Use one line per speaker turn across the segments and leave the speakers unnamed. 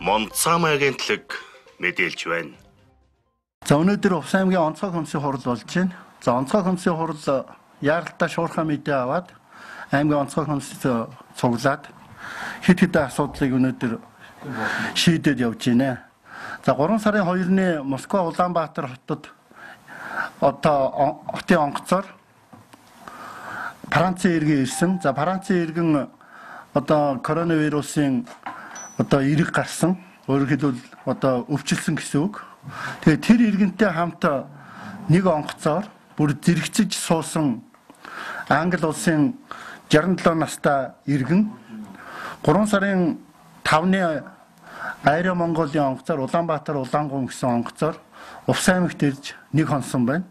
Монцам агентлаг мэдээлж байна.
За өнөөдөр Увс аймгийн онцгой комиссийн хурал болж байна. За онцгой комиссийн хурал яаралтай шуурхай мэдээ аваад аймгийн онцгой комиссид цуглаад хэд хэдэн асуудлыг өнөөдөр шийдээд явж байна. За 3 сарын 2-ны Москва Улаанбаатар хотод одоо хотын онгоцоор Францын иргэн ирсэн. За Францын иргэн одоо коронавирусын одоо эрэг гарсан. Өөрөөр хэлбэл одоо өвчлсөн гэсэн үг. Тэгээд тэр иргэнтэй хамт нэг онгоцоор бүр зэрэгцэж суусан Англи улсын 67 настай иргэн 3 сарын 5-ны Аэро Монголын онгоцоор Улаанбаатар Улаангум гэсэн онгоцоор Увс аймагт ирж нэг хонсон байна.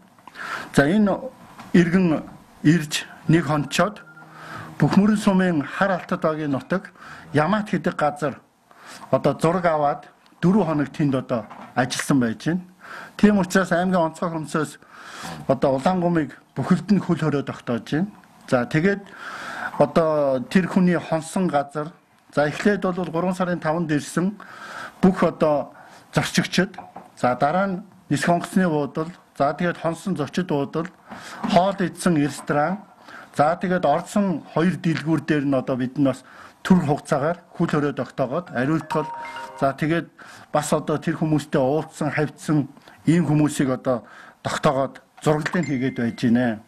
За энэ иргэн ирж нэг хончоод Бүхмөрөн сумын хар алтад багийн нутаг Ямат гэдэг газар одоо зураг аваад 4 хоног тэнд одоо ажилласан байж байна. Тийм учраас аймгийн онцгой комиссоос одоо Улаангумыг бүхэлд нь хөл хороо тогтоож байна. За тэгээд одоо тэр хүний хонсон газар за эхлээд бол 3 сарын 5-нд ирсэн бүх одоо зорчигчд за дараа нь нисэх онгоцны буудал за тэгээд хонсон зочид буудал хоол идсэн ресторан за тэгээд орсон 2 дэлгүүр дээр нь одоо бид нь бас төр хугацаагаар хөл хороо тогтоогоод ариутгал за тэгээд бас одоо тэр хүмүүстэй уулзсан хавьдсан ийм хүмүүсийг одоо тогтоогоод зураглалыг хийгээд байж гинэ.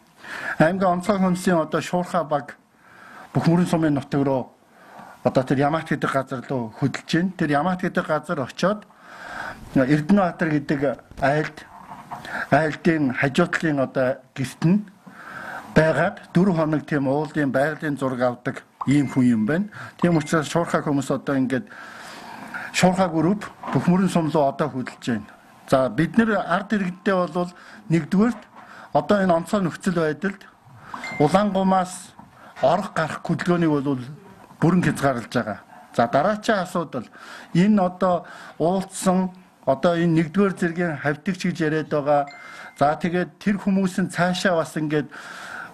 Аймгийн онцгой комиссийн одоо шуурхай баг Бүхмөрөн сумын нутаг руу одоо тэр Ямат гэдэг газар руу хөдөлж байна. Тэр Ямат гэдэг газар очоод Эрдэнэбаатар гэдэг айлдын хажуутлын одоо гэрт нь байгаад 4 хоног тийм уулын байгалийн зураг авдаг ийм хүн юм байна. Тийм учраас шуурхай хүмүүс одоо ингээд шуурхай групп Бүхмөрөн сум руу одоо хөдөлж байна. За бид нэр ард иргэдтэй бол нэгдүгээрт одоо энэ онцгой нөхцөл байдалд Улаангумаас орох гарах хөдөлгөөнийг бол бүрэн хязгаарлаж байгаа. За дараачийн асуудал энэ одоо уулзсан одоо энэ нэгдүгээр зэргийн хавьдагч гэж яриад байгаа. За тэгээд тэр хүмүүсийн цаашаа бас ингээд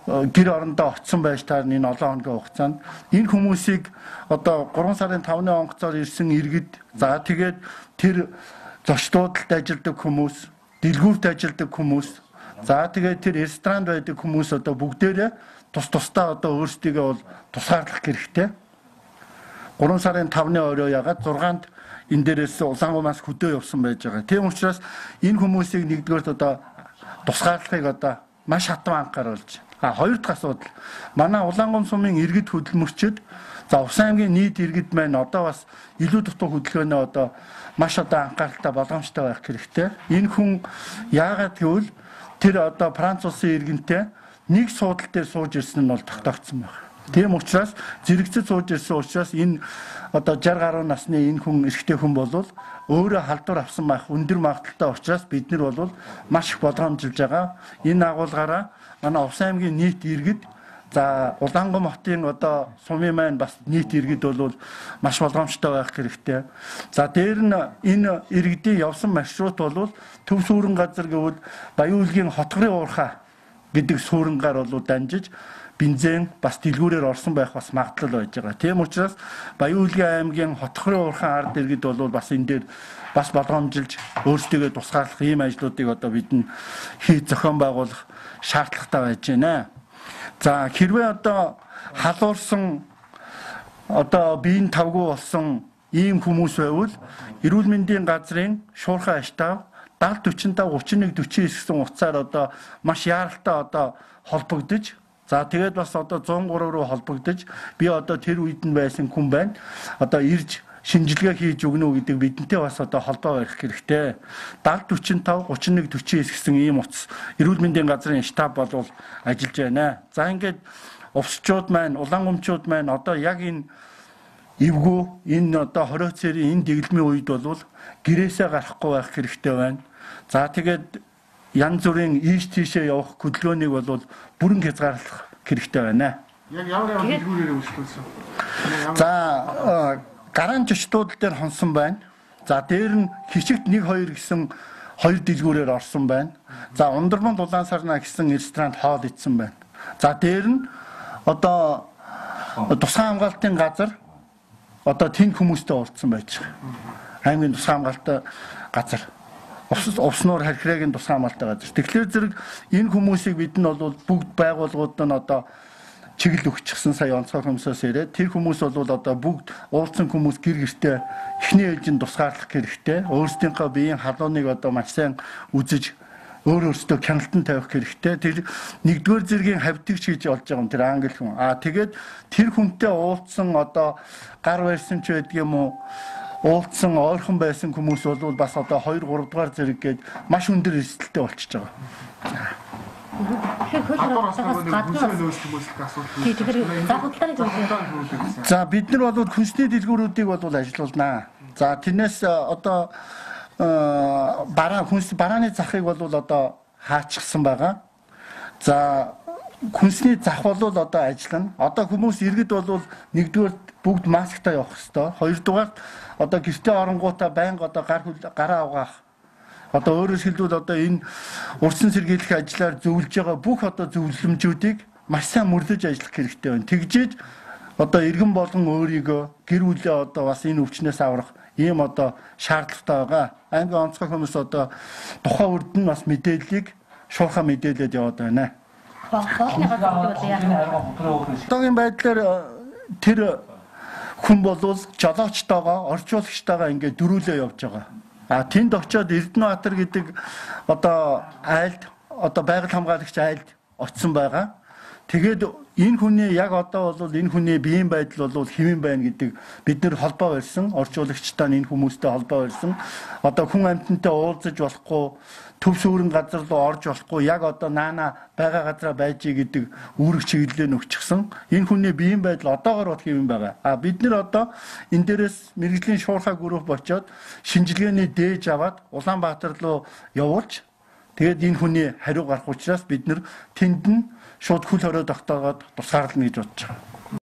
гэр орондоо очсон байж таар энэ олон хоногийн хугацаанд энэ хүмүүсийг одоо 3 сарын 5-ны онгоцоор ирсэн иргэд за тэгээд тэр зочдуудад ажилладаг хүмүүс, дэлгүүрт ажилладаг хүмүүс за тэгээд тэр ресторанд байдаг хүмүүс одоо бүгдээрээ тусдаа одоо өөрсдийгөө бол тусгаарлах хэрэгтэй. 3 сарын 5-ны орой ягаад 6-нд энэ дээрээс Улаангумаас хөдөө явсан байж байгаа. Тийм учраас энэ хүмүүсийг нэгдүгээрт одоо тусгаарлахыг одоо маш хатан анхааруулж. Хоёр дахь асуудал. Манай Улаангум сумын иргэд хөдөлмөрчд за Увс аймгийн нийт иргэд маань одоо бас илүү дутуу хөдөлгөөнөө одоо маш одоо анхааралтай болгоомжтой байх хэрэгтэй. Энэ хүн яагаад гэвэл тэр одоо Франц улсын иргэнтэй нэг суудлын дээр сууж ирсэн нь бол тогтоогдсон байна. Тийм учраас зэрэгцэж сууж ирсэн учраас энэ одоо 60 гаруй насны энэ хүн эрэгтэй хүн бол өөрөө халдвар авсан байх өндөр магадaltaй учраас бид нар бол маш их болгоомжилж байгаа. Энэ агуулгаараа манай Увс аймгийн нийт иргэд за Улаангум хотын одоо сумын маань бас нийт иргэд бол маш болгоомжтой байх хэрэгтэй. За дээр нь энэ иргэдийн явсан маршрут бол төв сүрэн газар гэвэл Баян-Үлгийн хотгорын уурхай гэдэг сүрэнгаар бол дамжиж бензин бас дэлгүүрээр орсон байх бас магадлал байж байгаа. Тийм учраас Баян-Үлгийн аймгийн хотгорын уурхай ард иргэд бол бас энэ дээр бас болгоомжилж өөрсдөө тусгаарлах ийм ажлуудыг одоо бид нь хийж зохион байгуулах шаардлагатай байж байна. За хэрвээ одоо халуурсан одоо биеийн тавгүй болсон ийм хүмүүс байвал эрүүл мэндийн газрын шуурхай аштав 70 45 31 49 гэсэн утсаар одоо маш яаралтай одоо холбогдож за тэгээд бас одоо 103 руу холбогдож би одоо тэр үед нь байсан хүн байна. Одоо ирж шинжилгээ хийж өгнө гэдэг бидэнтэй бас одоо холбоо барих хэрэгтэй. 70 45 31 49 гэсэн ийм утас эрүүл мэндийн газрын штаб бол ажиллаж байна. За ингээд увсчууд маань, улаангумчууд маань одоо яг энэ эвгүй энэ одоо хорио цэрийн энэ дэглэмийн үед бол гэрээсээ гарахгүй байх хэрэгтэй байна. За тэгээд янз бүрийн ийш тийшээ явах хөдөлгөөнийг бол бүрэн хязгаарлах хэрэгтэй байна.
Яг ямар дэлгүүрээр үйлчлүүлсэн?
За гараан жочдууд дээр хонсон байна. За дээр нь хичигт 1 2 гэсэн 2 дэлгүүрээр орсон байна. За Ундрман Улаансарна гэсэн ресторанд хоол идсэн байна. За дээр нь одоо тусгай хамгаалтын газар одоо тэнд хүмүүстэй уулзсан байж байгаа. аймгийн тусгай хамгаалалттай газар. Овсноор харьхраагийн тусгай хамгаалалттай газар. Тэгэхээр зэрэг энэ хүмүүсийг бид нь бол бүгд байгууллагууд нь одоо чиглэл өгчихсэн сая онцгой хүмүүсээс ирээд тэр хүмүүс бол одоо бүгд уулзсан хүмүүс гэр гэртээ эхний ээлжинд тусгаарлах хэрэгтэй. Өөрсдийнхөө биеийн халууныг одоо маш сайн үзэж өөрөөсөө хяналтан тавих хэрэгтэй. Тэр нэгдүгээр зэргийн хавьтгч гэж болж байгаа юм тэр англи хүн. Тэгээд тэр хүнтэй уулзсан одоо гар барьсан ч байдаг юм уу? Уулзсан ойрхон байсан хүмүүс бол бас одоо 2 3 дугаар зэрэг гээд маш өндөр эрсдэлтэй болчихж байгаа. За бид нар бол хүнсний дэлгүүрүүдийг бол ажилуулнаа. За тэрнээс одоо барааны захыг бол одоо хаачихсан байгаа. За хүнсний зах бол одоо ажиллана. Одоо хүмүүс иргэд бол нэгдүгээр бүгд масктай явах хэрэгтэй. Хоёрдугаар одоо гэртээ оронгуудаа байнга одоо гараа угаах. Одоо өөрөөр хэлбэл одоо энэ урьдчилан сэргийлэх ажлаар зөвлөж байгаа бүх одоо зөвлөмжүүдийг маш сайн мөрлөж ажиллах хэрэгтэй байна. Тэгжээж одоо иргэн болон өөрийгөө гэр бүлээ одоо бас энэ өвчнөөс аврах ийм одоо шаардлагатай байгаа. Аймгийн онцгой хүмүүс одоо тухайн үрд нь бас мэдээллийг шуурхай мэдээлээд яваад байна. Одоогийн байдлаар тэр хүн бол жолоочтойгоо орчуулагчтойгоо ингээд дөрүүлээ явж байгаа. Тэнд очиод Эрдэнэбаатар гэдэг одоо айлд одоо байгаль хамгаалагч айлд очсон байгаа. Тэгээд энэ хүний яг одоо бол энэ хүний биеийн байдал бол хэвэн байна гэдэг бид нэр холбоо барьсан. Орчуулагчтай энэ хүмүүстэй холбоо барьсан. Одоо хүн амьтантай уулзаж болохгүй, төв сүрэн газар руу орж болохгүй, яг одоо наана байгаа газараа байж гэдэг үүрэг чиглэлээ өгчихсөн. Энэ хүний биеийн байдал одоогоор бол хэвэн байгаа. Бид нэр одоо энэ дээрээс мэрэгжлийн шуурхай групп очиод шинжилгээний дээж аваад Улаанбаатар руу явуулж тэгээд энэ хүний хариу гарах учраас бид нэр тэнд нь шууд хөл хорой тогтоогоод тусгаарлана гэж бодож байгаа.